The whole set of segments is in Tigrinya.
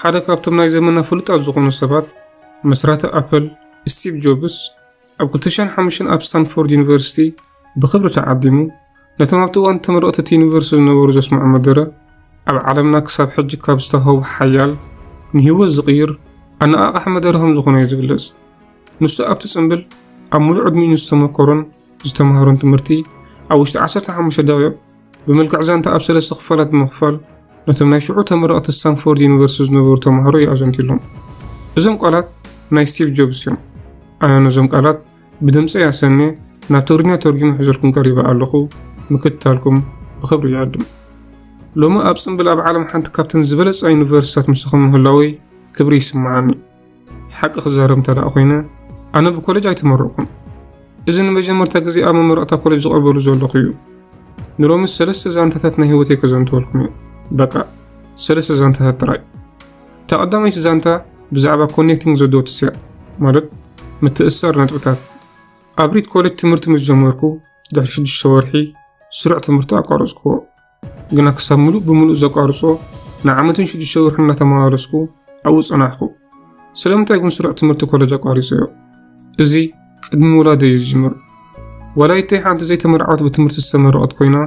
ሓደ ካብቶም ናይ ዘመና ፍሉጣት ዝኾኑ ሰባት፣ መስራቲ ኣፕል ስቲቭ ጆብስ፣ ኣብ ክልተ ሽሕን ሓሙሽተን ኣብ ስታንፎርድ ዩኒቨርሲቲ ብኽብሪ ተዓዲሙ። ነቶም ኣብቲ እዋን ተመረቕቲ እቲ ዩኒቨርሲቲ ዝነበሩ ዘስምዖ መደረ፣ ኣብ ዓለምና ክሳብ ሕጂ ካብ ዝተዋህቡ ሓያል ንህይወት ዝቕይር ኣነቓቓሒ መደረ ከም ዝኾነ እዩ ዝግለጽ። ንሱ ኣብቲ ጽምብል ኣብ ምሉእ ዕድሚኡ ዝተመኮሮን ዝተማህሮን ትምህርቲ ኣብ ውሽጢ ዓሰርተ ሓሙሽተ ደቂቕ ብመልክዕ ዛንታ ኣብ ሰለስተ ክፋላት ብምኽፋል ነቶም ናይ ሽዑ ተመረቕቲ ስታንፎርድ ዩኒቨርሲቲ ዝነበሩ ተማሃሮ እዩ ኣዘንቲሎም። እዞም ቃላት ናይ ስቲቭ ጆብስ እዮም። ኣነ ነዞም ቃላት ብድምፂ ያሰኔ ናብ ትግርኛ ተርጉሙ ሒዘልኩም ቀሪበ ኣለኹ። ምክትታልኩም ብኽብሪ ይዕድም። ሎሚ ኣብ ጽምብል ኣብ ዓለም ሓንቲ ካብተን ዝበለጻ ዩኒቨርሲታት ምሳኹም ምህላወይ ክብሪ ይስምዓኒ። ሓቂ ክዛረብ እንተ ደኣ ኮይነ፣ ኣነ ብኮሌጅ ኣይተመረቕኩን። እዚ ንመጀመርታ ግዜ ኣብ መመረቕታ ኮሌጅ ዝቐርበሉ ዘለኹ እዩ። ንሎሚ ሰለስተ ዛንታታት ናይ ህይወተይ ከዘንትወልኩም እዩ። በቃ፣ ሰለስተ ዛንታታት ጥራይ። እታ ቀዳመይቲ ዛንታ ብዛዕባ ኮኔክቲንግ ዘ ዶትስ እያ፣ ማለት ምትእስሳር ነጥብታት። ኣብ ሪድ ኮሌጅ ትምህርቲ ምስ ጀመርኩ ድሕሪ ሽዱሽተ ወርሒ ስሩዕ ትምህርቲ ኣቋረጽኩዎ። ግና ክሳብ ምሉእ ብምሉእ ዘቋርጾ ንዓመትን ሽዱሽተ ወርሒ እናተመላለስኩ ኣብኡ ጸናሕኩ። ስለምንታይ ግን ስሩዕ ትምህርቲ ኮሌጅ ኣቋሪጸዮ? እዚ ቅድሚ ውላደይ እዩ ዝጅምር። ወላዲተይ ሓንቲ ዘይተመርዓወት ብትምህርቲ ዝተመረቐት ኮይና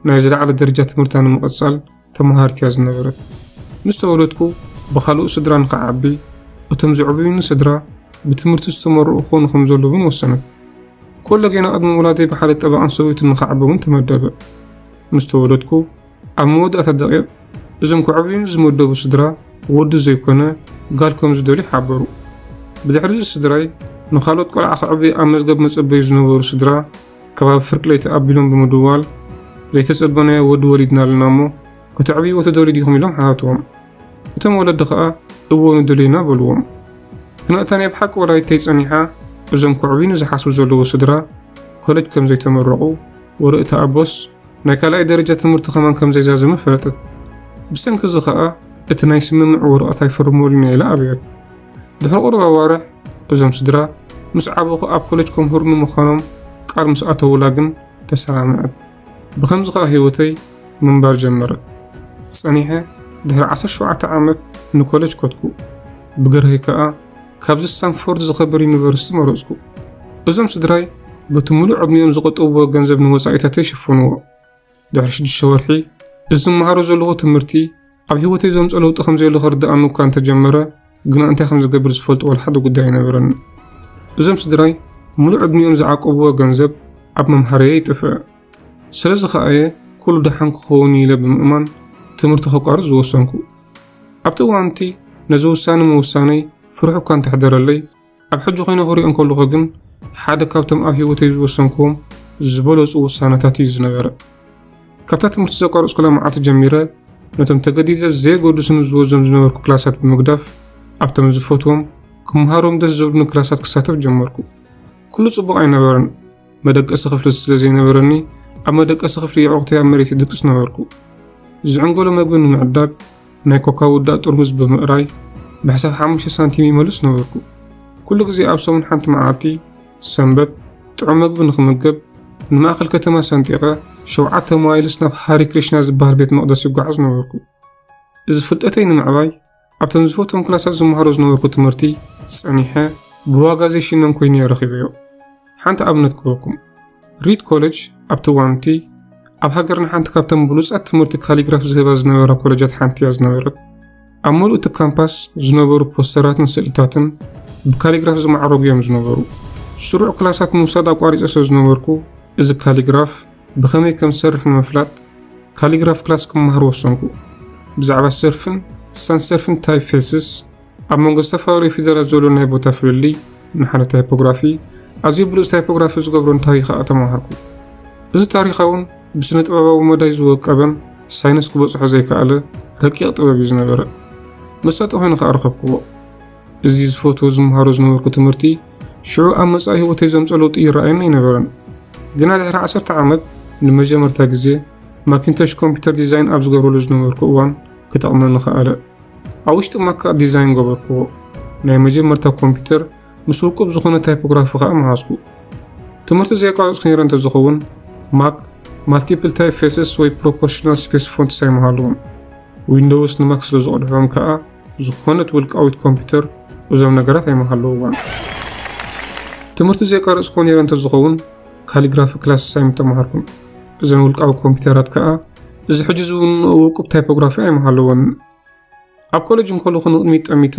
ናይ ዝለዓለ ደረጃ ትምህርታ ንምቕጻል ተመሃሪት እያ ዝነበረት። ምስ ተወለድኩ ብኻልኡ ስድራ ንኽዓቢ፣ እቶም ዘዕብዩኒ ስድራ ብትምህርቲ ዝተመርቑ ክኾኑ ከም ዘለዎም ወሰነት። ኮለጌና ቅድሚ ውላደይ ብሓደ ጠበቓን ሰበይቱን ንኽዓቢ እውን ተመደበ። ምስ ተወለድኩ ኣብ መወዳእታ ደቂቕ እዞም ክዕብዩኒ ዝመደቡ ስድራ ወዲ ዘይኮነ ጋል ከም ዝደልዩ ሓበሩ። ብድሕሪ እዚ ስድራይ ንኻልኦት ቆልዓ ክዕብዩ ኣብ መዝገብ መጸበዩ ዝነበሩ ስድራ ከባቢ ፍርቂ ለይቲ ኣቢሎም ብምድዋል ዘይተጸበናዮ ወዲ ወሊድና ኣለና እሞ ከተዕብይዎ ትደልዩ ዲኹም ኢሎም ሓተትዎም። እቶም ወለዲ ኸኣ እወ ንደልዩ ኢና በልዎም። ግና እታ ናይ ብሓቂ ወላዲተይ ጸኒሓ እዞም ክዕብዩኒ ዝሓስቡ ዘለዉ ስድራ ኮለጅ ከም ዘይተመረቑ ወረ እታ ኣቦስ ናይ ካልኣይ ደረጃ ትምህርቲ ከማን ከም ዘይዛዘመ ፈለጠት። ብሰንኪ እዚ ኸኣ እቲ ናይ ስምምዕ ወረቐት ኣይፈርመሉን እየ ኢላ ኣብየት። ድሕሪ ቁሩብ ኣዋርሕ እዞም ስድራ ምስ ዓበኹ ኣብ ኮለጅ ከምህሩኒ ምዃኖም ቃል ምስ ኣተዉላ ግን ተሰማምዐት። ብኸምዚ ኸኣ ህይወተይ ምንባር ጀመረት። ጸኒሐ ድሕሪ ዓሰርተ ሸውዓተ ዓመት ንኮለጅ ከድኩ። ብገርሂ ከኣ ካብዚ ስታንፎርድ ዝኸበር ዩኒቨርሲቲ መረጽኩ። እዞም ስድራይ በቲ ምሉእ ዕድሚኦም ዝቆጠብዎ ገንዘብ ንወጻኢታተይ ይሽፍንዎ። ድሕሪ ሽዱሽተ ወርሒ እዚ ዝመሃሮ ዘለኹ ትምህርቲ ኣብ ህይወተይ ዘምጽኦ ለውጢ ከም ዘየሎ ክርድኣኒ እኳ እንተጀመረ፣ ግና እንታይ ከም ዝገብር ዝፈልጦ ወላ ሓደ ጉዳይ ኣይነበረኒ። እዞም ስድራይ ምሉእ ዕድሚኦም ዝዓቀብዎ ገንዘብ ኣብ መምሃረየ ይጥፍእ። ስለዚ ኸኣ እየ ኩሉ ደሓን ክኸውን ኢለ ብምእማን ትምህርቲ ከቋርጽ ዝወሰንኩ። ኣብቲ እዋን እቲ ነዚ ውሳነ ምውሳነይ ፍርሒ እኳ እንተሕደረለይ፣ ኣብ ሕጂ ኮይነ ክሪኦ እንከለኹ ግን ሓደ ካብቶም ኣብ ህይወተይ ዝወሰንክዎም ዝበለጹ ውሳነታት እዩ ዝነበረ። ካብታ ትምህርቲ ዘቋረጽኩላ መዓልቲ ጀሚረ ነቶም ተገዲደ ዘየገድሱኒ ዝወዞም ዝነበርኩ ክላሳት ብምግዳፍ ኣብቶም ዝፈትዎም ክመሃሮም ደስ ዘብሉኒ ክላሳት ክሳተፍ ጀመርኩ። ኩሉ ጽቡቕ ኣይነበረን። መደቀሲ ክፍሊ ስለ ዘይነበረኒ ኣብ መደቀሲ ክፍሊ የዕቑተይ ኣብ መሬት ይድቅስ ነበርኩ። ዝዕንገሎ መግቢ ንምዕዳግ ናይ ኮካ ውዳእ ጥርሙዝ ብምእራይ ብሕሳብ ሓሙሽተ ሳንቲም ይመልስ ነበርኩ። ኩሉ ግዜ ኣብ ሰሙን ሓንቲ መዓልቲ ሰንበት ጥዑም መግቢ ንኽምገብ ንማእከል ከተማ ሰንጢቐ ሸውዓተ ማይልስ ናብ ሃሪ ክሪሽና ዝበሃል ቤት መቕደስ ይጓዓዝ ነበርኩ። እዚ ፍልጠተይ ንምዕባይ ኣብቶም ዝፈትዎም ክላሳት ዝመሃሮ ዝነበርኩ ትምህርቲ ጸኒሐ ብዋጋ ዘይሽነን ኮይነ እየ ረኺበዮ። ሓንቲ ኣብነት ክህበኩም። ሪድ ኮሌጅ ኣብቲ እዋን እቲ ኣብ ሃገርና ሓንቲ ካብተን ብሉጻት ትምህርቲ ካሊግራፍ ዝህባ ዝነበራ ኮሌጃት ሓንቲ እያ ዝነበረት። ኣብ መሉእ እቲ ካምፓስ ዝነበሩ ፖስተራትን ስእልታትን ብካሊግራፍ ዝማዕረጉ እዮም ዝነበሩ። ስሩዕ ክላሳት ምውሳድ ኣቋሪጸ ስለ ዝነበርኩ እዚ ካሊግራፍ ብኸመይ ከም ዝሰርሕ ንምፍላጥ ካሊግራፍ ክላስ ክመሃር ወሰንኩ። ብዛዕባ ሰርፍን ሳንሰርፍን ታይፕፌስስ ኣብ መንጎ ዝተፈላለዩ ፊደላት ዘሎ ናይ ቦታ ፍልልይ ንሓደ ታይፖግራፊ ኣዝዩ ብሉጽ ታይፖግራፊ ዝገብሮ እንታይ ከኣ ተማሃርኩ። እዚ ታሪኻውን ብስነ ጥበባዊ መዳይ ዝወቀበን ሳይንስ ክበጽሖ ዘይከኣለ ረቂቕ ጥበብ እዩ ዝነበረ። መሳጢ ኮይኑ ከኣ ረኸብክዎ። እዚ ዝፈትዎ ዝመሃሮ ዝነበርኩ ትምህርቲ ሽዑ ኣብ መጻኢ ህይወተይ ዘምጽኦ ለውጢ ይረኣየኒ ኣይነበረን። ግና ድሕሪ ዓሰርተ ዓመት ንመጀመርታ ግዜ ማኪንቶሽ ኮምፒውተር ዲዛይን ኣብ ዝገብረሉ ዝነበርኩ እዋን ክጠቕመኒ ከኣለ። ኣብ ውሽጢ ማክ ከኣ ዲዛይን ገበርክዎ። ናይ መጀመርታ ኮምፒውተር ምስ ውቁብ ዝኾነ ታይፖግራፊ ከኣ መሃዝኩ። ትምህርቲ ዘየቋረጽኩ ነይረ እንተዝኸውን ማክ ማልቲፕል ታይፕፌስስ ወይ ፕሮፖርሽናል ስፔስ ፎንትስ ኣይመሃልዎን። ዊንዶውስ ንማክ ስለ ዝቐድሖም ከኣ ዝኾነት ውልቃዊት ኮምፒውተር እዞም ነገራት ኣይምሃለውዋን። ትምህርቲ ዘየቋረጽኩዎ ነይረ እንተዝኸውን ካሊግራፊ ክላስ ኣይምተማሃርኩን። እዘን ውልቃዊ ኮምፒውተራት ከኣ እዚ ሕጂ ዝውንኦ ውቁብ ታይፖግራፊ ኣይምሃለወንን። ኣብ ኮሌጅ እንከለኹ ንቕድሚት ጠሚተ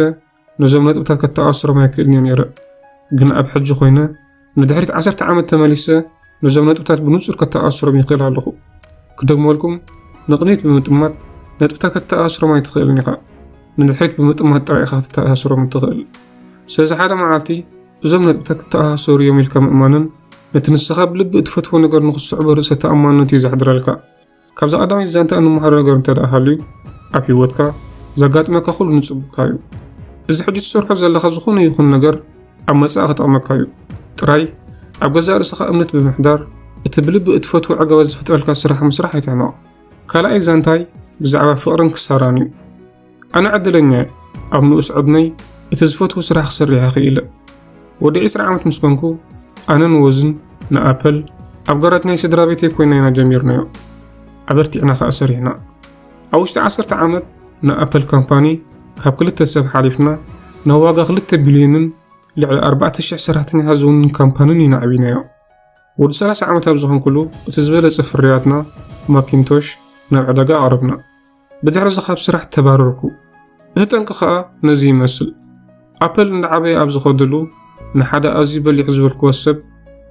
ነዞም ነጥብታት ከተኣስሮም ኣይክእልን እየ ነይረ። ግን ኣብ ሕጂ ኮይነ ንድሕሪት ዓሰርተ ዓመት ተመሊሰ ነዞም ነጥብታት ብንጹር ከተኣስሮም ይኽእል ኣለኹ። ክደግመልኩም፣ ንቕድሚት ብምጥማት ነጥብታት ከተኣስሮም ኣይትኽእልን ኢኻ። ንድሕሪት ብምጥማት ጥራይ ኢኻ ከተኣስሮም እትኽእል። ስለዚ ሓደ መዓልቲ እዞም ነጥብታት ክተኣሳሰሩ እዮም ኢልካ ምእማንን ነቲ ንስኻ ብልቢ እትፈትዎ ነገር ንኽስዕቦ ርእሰ ተኣማንነት እዩ ዘሕድረልካ። ካብዛ ቀዳመይቲ ዛንታ እንመሃሮ ነገር እንተ ደኣ ሃልዩ፣ ኣብ ህይወትካ ዘጋጥመካ ኩሉ ንጽቡቕካ እዩ። እዚ ሕጂ ትሰርሖ ዘለኻ ዝኾነ ይኹን ነገር ኣብ መጻኢ ክጠቕመካ እዩ። ጥራይ ኣብ ገዛእ ርእስኻ እምነት ብምሕዳር፣ እቲ ብልቢ እትፈትዎ ዕገበት ዝፈጥረልካ ስራሕ ምስራሕ ኣይትሕመቕ። ካልኣይ ዛንታይ ብዛዕባ ፍቕርን ክሳራን እዩ። ኣነ ዕድለኛ እየ። ኣብ ንኡስ ዕድመይ እቲ ዝፈትዎ ስራሕ ክሰርሕ ክኢለ። ወዲ ዕስራ ዓመት ምስ ኮንኩ፣ ኣነን ወዝን ንኣፐል ኣብ ጋራጅ ናይ ስድራ ቤተይ ኮይና ኢና ጀሚርናዮ። ኣበርቲዕና ከኣ ሰሪሕና። ኣብ ውሽጢ ዓሰርተ ዓመት ንኣፐል ካምፓኒ ካብ ክልተ ሰብ ሓሊፍና ናብ ዋጋ ክልተ ቢልዮንን ልዕሊ ኣርባዕተ ሽሕ ሰራሕተኛታት ዝውንን ካምፓንን ኢና ኣዕቢናዮ። ወዲ ሰላሳ ዓመት ኣብ ዝኾንኩሉ እቲ ዝበለጸ ፍርያትና ማኪንቶሽ ናብ ዕዳጋ ኣቕረብና። ብድሕሪ እዚ ካብ ስራሕ ተባረርኩ። እቲ ጠንቂ ኸኣ ነዚ ይመስል። ኣፐል እንዳዓበየ ኣብ ዝኸደሉ ንሓደ ኣዝዩ በሊሕ ዝበልክዎ ሰብ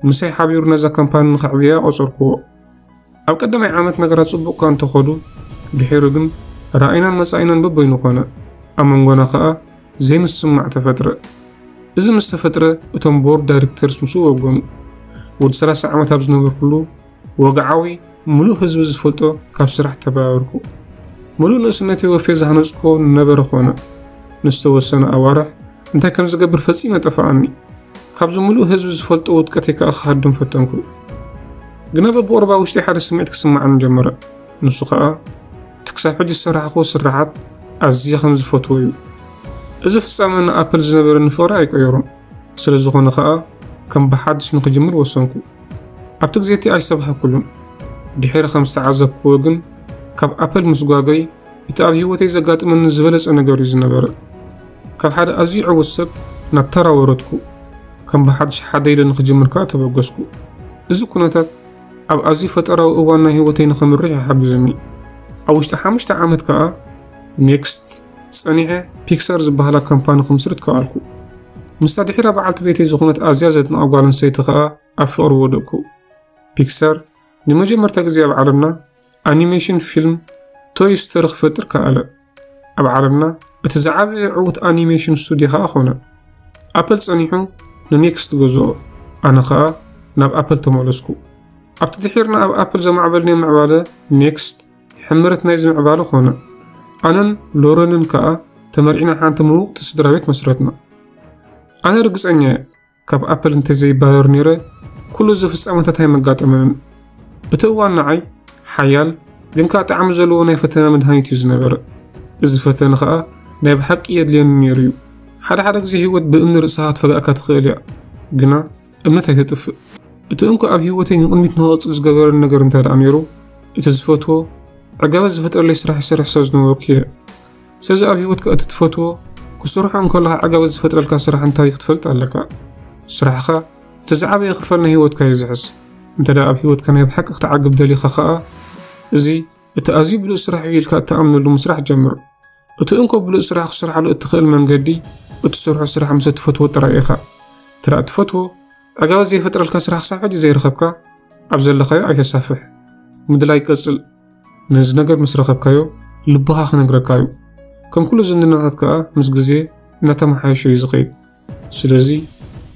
ምሳይ ሓቢሩ ነዛ ካምፓኒ ንኸዕብያ ቆጸርክዎ። ኣብ ቀዳማይ ዓመት ነገራት ጽቡቕ እኳ እንተኸዱ፣ ድሒሩ ግን ራእይናን መጻኢናን በበይኑ ኾነ። ኣብ መንጎና ኸኣ ዘይምስምማዕ ተፈጥረ። እዚ ምስ ተፈጥረ እቶም ቦርድ ዳይሬክተርስ ምስኡ ወገኑ። ወዲ ሰላሳ ዓመት ኣብ ዝነበርኩሉ ወግዓዊ ምሉእ ህዝቢ ዝፈልጦ ካብ ስራሕ ተባረርኩ። ምሉእ ንእስነተይ ወፍየ ዝሃነጽክዎ ነበረ ኾነ። ንዝተወሰነ ኣዋርሕ እንታይ ከም ዝገብር ፈጺመ ጠፍኣኒ። ካብዚ ምሉእ ህዝቢ ዝፈልጦ ውድቀተይ ከኣ ክሃድም ፈተንኩ። ግና በብቑሩብ ውሽጠይ ሓደ ስምዒት ክስምዓኒ ጀመረ። ንሱ ኸኣ እቲ ክሳብ ሕጂ ዝሰራሕክዎ ስርሓት ኣዝየ ከም ዝፈትዎ እዩ። እዚ ፍጻመ ንኣፕል ዝነበረኒ ፍቕሪ ኣይቀየሮን። ስለ ዝኾነ ኸኣ ከም ብሓድሽ ንኽጅምር ወሰንኩ። ኣብቲ ግዜ እቲ ኣይሰብሃኩሉን። ድሒረ ከም ዝተዓዘብክዎ ግን ካብ ኣፕል ምስጓገይ እቲ ኣብ ህይወተይ ዘጋጥመኒ ዝበለጸ ነገር እዩ ዝነበረ። ካብ ሓደ ኣዝዩ ዕዉት ሰብ ናብ ተራ ወረድኩ። ከም ብሓድሽ ሓደ ኢለ ንኽጅምር ከኣ ተበገስኩ። እዚ ኩነታት ኣብ ኣዝዩ ፈጠራዊ እዋን ናይ ህይወተይ ንኸምርሕ እዩ ሓጊዙኒ። ኣብ ውሽጢ ሓሙሽተ ዓመት ከኣ ኔክስት ጸኒሐ ፒክሳር ዝበሃላ ካምፓኒ ክምስርት ከኣልኩ። ምስታ ድሒራ በዓልቲ ቤተይ ዝኾነት ኣዝያ ዘድንቓ ጓል ኣንስተይቲ ከኣ ኣብ ፍቕሪ ወደቅኩ። ፒክሳር ንመጀመርታ ግዜ ኣብ ዓለምና ኣኒሜሽን ፊልም ቶይ ስቶሪ ክፈጥር ከኣለ። ኣብ ዓለምና እቲ ዝዓበየ ዕዉት ኣኒሜሽን ስቱድዮ ከኣ ኾነ። ኣፕል ጸኒሑ ንኔክስት ገዝኦ፣ ኣነ ኸኣ ናብ ኣፕል ተመለስኩ። ኣብቲ ድሒርና ኣብ ኣፕል ዘማዕበልናዮ ምዕባለ ኔክስት ሕምረት ናይዚ ምዕባለ ኾነ። ኣነን ሎረንን ከኣ ተመርዒና ሓንቲ ምውቕቲ ስድራ ቤት መስረትና። ኣነ ርግጸኛ እየ፣ ካብ ኣፕል እንተዘይባረር ነይረ፣ ኩሉ እዚ ፍጻመታት ኣይመጋጠመንን። እቲ እዋን ንዓይ ሓያል ግን ከኣ ጣዕሚ ዘለዎ ናይ ፈተነ መድሃኒት እዩ ዝነበረ። እዚ ፈተነ ከኣ ናይ ብሓቂ የድልየኒ ነይሩ እዩ። ሓደ ሓደ ግዜ ህይወት ብእምኒ ርእስኻ ክትፈግኣካ ትኽእል እያ፣ ግና እምነት ኣይተጥፍእ። እቲ እንኮ ኣብ ህይወተይ ንቕድሚት ንኽቕጽል ዝገበረኒ ነገር እንታይ ደኣ ነይሩ? እቲ ዝፈትዎ ዕጋበት ዝፈጥረለይ ስራሕ ይሰርሕ ስለ ዝነበርኩ እየ። ስለዚ ኣብ ህይወትካ እቲ ትፈትዎ ክሰርሖ እንከለኻ ዕጋበት ዝፈጥረልካ ስራሕ እንታይ እዩ ክትፈልጥ ኣለካ። ስራሕኻ እቲ ዝዓበየ ክፋል ናይ ህይወትካ እዩ ዝሕዝ። እንተ ደኣ ኣብ ህይወትካ ናይ ብሓቂ ክትዓግብ ደሊኻ ኸኣ፣ እዚ እቲ ኣዝዩ ብሉጽ ስራሕ እዩ ኢልካ እትኣምነሉ ምስራሕ ጀምር። እቲ እንኮ ብሉጽ ስራሕ ክትሰርሓሉ እትኽእል መንገዲ፣ እትሰርሖ ስራሕ ምስ እትፈትዎ ጥራይ ኢኻ። እንተ ደኣ እትፈትዎ ዕጋበት ዘይፈጥረልካ ስራሕ ክሳብ ሕጂ ዘይረኸብካ፣ ኣብ ዘለኻዮ ኣይተሳፍሕ። ምድላይ ቀጽል። ነዚ ነገር ምስ ረኸብካዮ፣ ልብኻ ክነግረካ እዩ። ከም ኩሉ ዝምድናታት ከኣ ምስ ግዜ እናተመሓየሸ እዩ ዝኸይድ። ስለዚ፣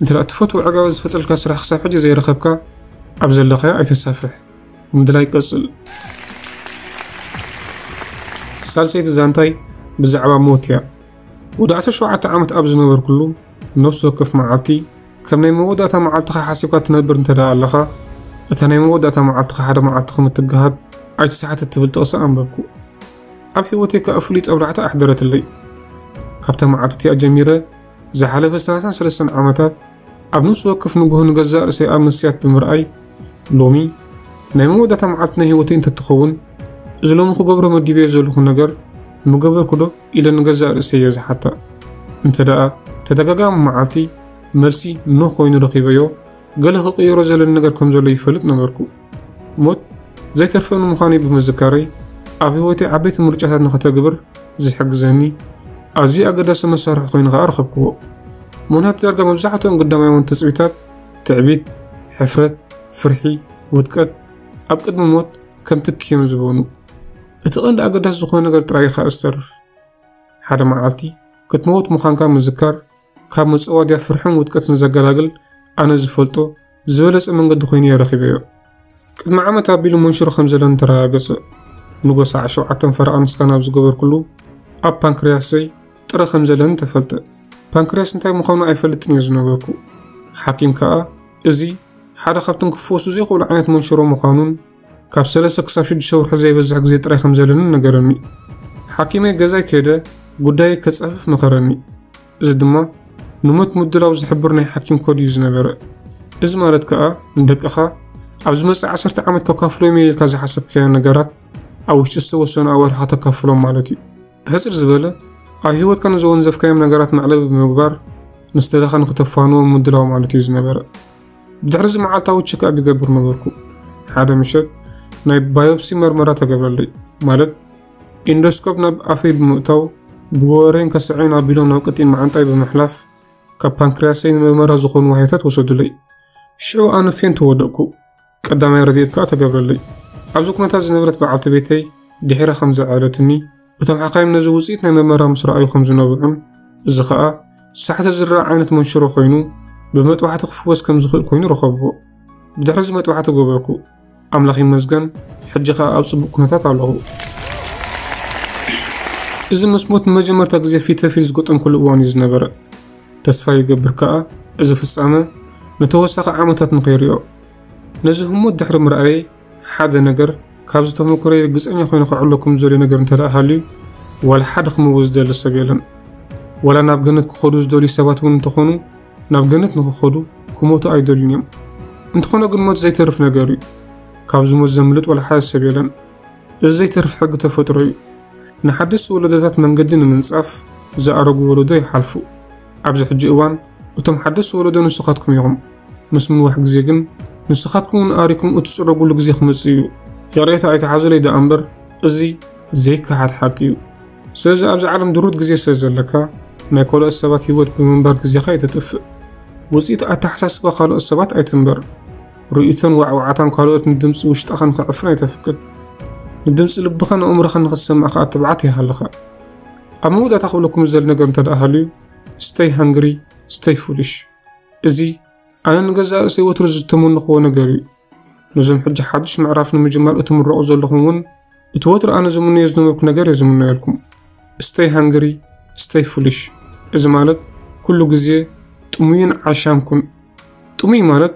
እንተ ደኣ እትፈትዎ ዕጋበት ዝፈጥረልካ ስራሕ ክሳብ ሕጂ ዘይረኸብካ፣ ኣብ ዘለኻዮ ኣይተሳፍሕ። ምድላይ ቀጽል። ሳልሰይቲ ዛንታይ ብዛዕባ ሞት እያ። ወዲ ዓሰርተ ሸውዓተ ዓመት ኣብ ዝነበርኩሉ፣ ነፍሲ ወከፍ መዓልቲ ከም ናይ መወዳእታ መዓልትኻ ሓሲብካ ትነብር እንተ ደኣ ኣለኻ፣ እታ ናይ መወዳእታ መዓልትኻ ሓደ መዓልቲ ከም እትገሃድ ኣይትስሓት እትብል ጥቕሲ ኣንበብኩ። ኣብ ህይወተይ ከኣ ፍሉይ ጠብላዕታ ኣሕደረትለይ። ካብታ መዓልቲ እቲኣ ጀሚረ፣ ዝሓለፈ ሰላሳን ሰለስተን ዓመታት ኣብ ነፍሲ ወከፍ ንግሆ ንገዛእ ርእሰይ ኣብ መስትያት ብምርኣይ፣ ሎሚ ናይ መወዳእታ መዓልቲ ናይ ህይወተይ እንተትኸውን፣ እዚ ሎሚ ክገብሮ መዲበዮ ዘለኹ ነገር ምገበርኩ ዶ ኢለ ንገዛእ ርእሰይ እየ ዝሓታ። እንተ ደኣ ተደጋጋሚ መዓልቲ መልሲ ኖ ኮይኑ ረኺበዮ፣ ገለ ክቕይሮ ዘለኒ ነገር ከም ዘሎ ይፈልጥ ነበርኩ። ሞት ዘይተርፈኒ ምዃነይ ብምዝካረይ፣ ኣብ ህይወተይ ዓበይቲ ምርጫታት ንኸተግብር ዝሕግዘኒ ኣዝዩ ኣገዳሲ መሳርሒ ኮይኑ ኸኣ ረኸብክዎ። ምኽንያቱ ዳርጋ መብዛሕትኦም ግዳማውያን ትጽቢታት፣ ትዕቢት፣ ሕፍረት፣ ፍርሒ፣ ውድቀት፣ ኣብ ቅድሚ ሞት ከም ትኪ እዮም ዝበኑ። እቲ ቀንዲ ኣገዳሲ ዝኾነ ነገር ጥራይ ኢኻ ዝተርፍ። ሓደ መዓልቲ ክትመውት ምዃንካ ምዝካር፣ ካብ መጸዋድያ ፍርሕን ውድቀትን ዘገላግል፣ ኣነ ዝፈልጦ ዝበለጸ መንገዲ ኮይኑ እየ ረኺበዮ። ቅድሚ ዓመት ኣቢሉ መንሽሮ ከም ዘለኒ ተረጋገጸ። ንጎ ሰዓት ሸውዓተ ፈረቓ ንስካን ኣብ ዝገበርኩሉ፣ ኣብ ፓንክርያሰይ ጥረ ከም ዘለኒ ተፈልጠ። ፓንክርያስ እንታይ ምዃኑ ኣይፈልጥን እየ ዝነበርኩ። ሓኪም ከኣ፣ እዚ ሓደ ካብቶም ክፍወሱ ዘይኽእሉ ዓይነት መንሽሮ ምዃኑን፣ ካብ ሰለስተ ክሳብ ሽዱሽተ ወርሒ ዘይበዝሕ ግዜ ጥራይ ከም ዘለንን ነገረኒ። ሓኪመይ ገዛይ ከይደ ጉዳየይ ከጻፍፍ መኸረኒ። እዚ ድማ ንሞት ምድላው ዝሕብር ናይ ሓኪም ኮድ እዩ ዝነበረ። እዚ ማለት ከኣ፣ ንደቅኻ ኣብ ዝመጽእ ዓሰርተ ዓመት ከካፍሎም እየ ኢልካ ዝሓሰብካዮ ነገራት፣ ኣብ ውሽጢ ዝተወሰኑ ኣዋርሕ ከተካፍሎም ማለት እዩ። ሕጽር ዝበለ፣ ኣብ ህይወትካ ንዘወንዘፍካዮም ነገራት መዕለቢ ብምግባር፣ ንስድራኻ ንክተፋንዎም ምድላው ማለት እዩ ዝነበረ። ብድሕሪ እዚ መዓልታዊ ቸክኣፕ ይገብር ነበርኩ። ሓደ ምሸት ናይ ባዮፕሲ መርመራ ተገብረለይ፣ ማለት ኢንዶስኮፕ ናብ ኣፈይ ብምእታው፣ ብጎረሬን ከስዐይን ኣቢሎም ናብ ቀጢን መዓንጣይ ብምሕላፍ፣ ካብ ፓንክርያሰይ ንመርመራ ዝኾኑ ዋህዮታት ወሰዱለይ። ሽዑ ኣነ ፌንት ወደቅኩ። ቀዳማይ ረድኤት ከኣ ተገብረለይ። ኣብዚ ኩነታት ዝነበረት በዓልቲ ቤተይ ድሒራ ከም ዘዕለትኒ፣ እቶም ሓካይም ነዚ ውጽኢት ናይ መርመራ ምስ ረኣዩ ከም ዝነብዑን፣ እዚ ኸኣ ሳሕቲ ዝረኣ ዓይነት መንሽሮ ኮይኑ፣ ብመጥባሕቲ ክፍወስ ከም ዝኽእል ኮይኑ ረኸብዎ። ብድሕሪ እዚ መጥባሕቲ ገበርኩ። ኣምላኽ ይመስገን፣ ሕጂ ኸኣ ኣብ ጽቡቕ ኩነታት ኣለኹ። እዚ ምስ ሞት ንመጀመርታ ግዜ ፊት ንፊት ዝገጠምኩሉ እዋን እዩ ዝነበረ። ተስፋ ይገብር ከኣ፣ እዚ ፍጻመ ንተወሳኺ ዓመታት ንኸይርእዮ። ነዚ ህሞት ድሕሪ ምርኣየይ፣ ሓደ ነገር ካብዚ ተመክሮይ ርግጸኛ ኮይኑ ከዕለኩም ዝደልዮ ነገር እንተ ደኣ ሃልዩ፣ ዋላ ሓደ ክመውት ዝደሊ ሰብ የለን። ዋላ ናብ ገነት ክኸዱ ዝደልዩ ሰባት እውን እንተኾኑ፣ ናብ ገነት ንኽኸዱ ክሞቱ ኣይደልዩን እዮም። እንተኾነ ግን ሞት ዘይተርፍ ነገር እዩ። ካብዚ ሞት ዘምልጥ ዋላ ሓደ ሰብ የለን። እዚ ዘይተርፍ ሕጊ ተፈጥሮ እዩ። ንሓደስቲ ወለዶታት መንገዲ ንምንጻፍ ዝኣረጉ ወለዶ ይሓልፉ። ኣብዚ ሕጂ እዋን እቶም ሓደስቲ ወለዶ ንስኻትኩም ኢኹም። ምስ ምንዋሕ ግዜ ግን ንስኻትኩም እውን ኣሪኩም እትጽረጉሉ ግዜ ክመጽእ እዩ። ይቕሬታ ኣይትሓዙለይ ደኣ እምበር፣ እዚ ዘይከሓድ ሓቂ እዩ። ስለዚ ኣብዚ ዓለም ድሩት ግዜ ስለ ዘለካ፣ ናይ ካልኦት ሰባት ህይወት ብምንባር ግዜኻ ኣይተጥፍእ። ውጽኢት ኣተሓሳስባ ካልኦት ሰባት ኣይትንበር። ርእይቶን ዋዕዋዕታን ካልኦት ንድምጺ ውሽጥኻ ንኽዕፍን ኣይተፍቅድ። ንድምጺ ልብኻን ኣእምሮኻን ንኽትሰምዕ ከኣ ትብዓት ይሃልኻ። ኣብ መወዳእታ ክብለኩም ዝደሊ ነገር እንተ ደኣ ሃልዩ፣ stay hungry, stay foolish። እዚ ኣነ ንገዛእ ርእሰይ ወትሩ ዝተመንኽዎ ነገር እዩ። ነዞም ሕጂ ሓድሽ ምዕራፍ ንምጅማር እትምረቑ ዘለኹም እውን፣ እቲ ወትሩ ኣነ ዝምነዮ ዝነበርኩ ነገር እየ ዝምነየልኩም። Stay hungry, stay foolish። እዚ ማለት፣ ኩሉ ግዜ ጥሙይን ዓሻን ኩን። ጥሙይ ማለት፣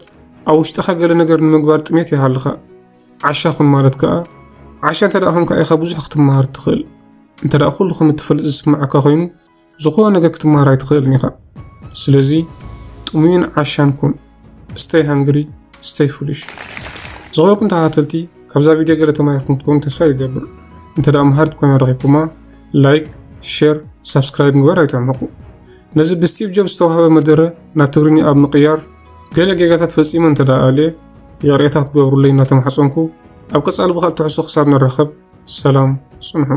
ኣብ ውሽጥኻ ገለ ነገር ንምግባር ጥሜት ይሃልኻ። ዓሻ ኩን ማለት ከኣ፣ ዓሻ እንተ ደኣ ኾንካ ኢኻ ብዙሕ ክትመሃር ትኽእል። እንተ ደኣ ኩሉ ከም እትፈልጥ ዝስምዓካ ኮይኑ፣ ዝኾነ ነገር ክትመሃር ኣይትኽእልን ኢኻ። ስለዚ፣ ጥሙይን ዓሻን ኩን። Stay hungry, stay foolish። ዝኸበርኩም ተኸታተልቲ፣ ካብዛ ቪድዮ ገለ ተማሂርኩም ክትኮኑ ተስፋ ይገብር። እንተ ደኣ መሃሪት ኮይና ረኺብኩማ፣ ላይክ፣ ሼር፣ ሳብስክራይብ ምግባር ኣይትሕመቑ። ነዚ ብስቲቭ ጆብስ ዝተዋህበ መደረ ናብ ትግርኛ ኣብ ምቕያር፣ ገለ ጌጋታት ፈጺመ እንተ ደኣ ኣልየ፣ ይቕሬታ ክትገብሩለይ እናተማሕጸንኩ፣ ኣብ ቀጻሊ ብኻልእ ትሕዝቶ ክሳብ ንራኸብ፣ ሰላም ጽንሑ።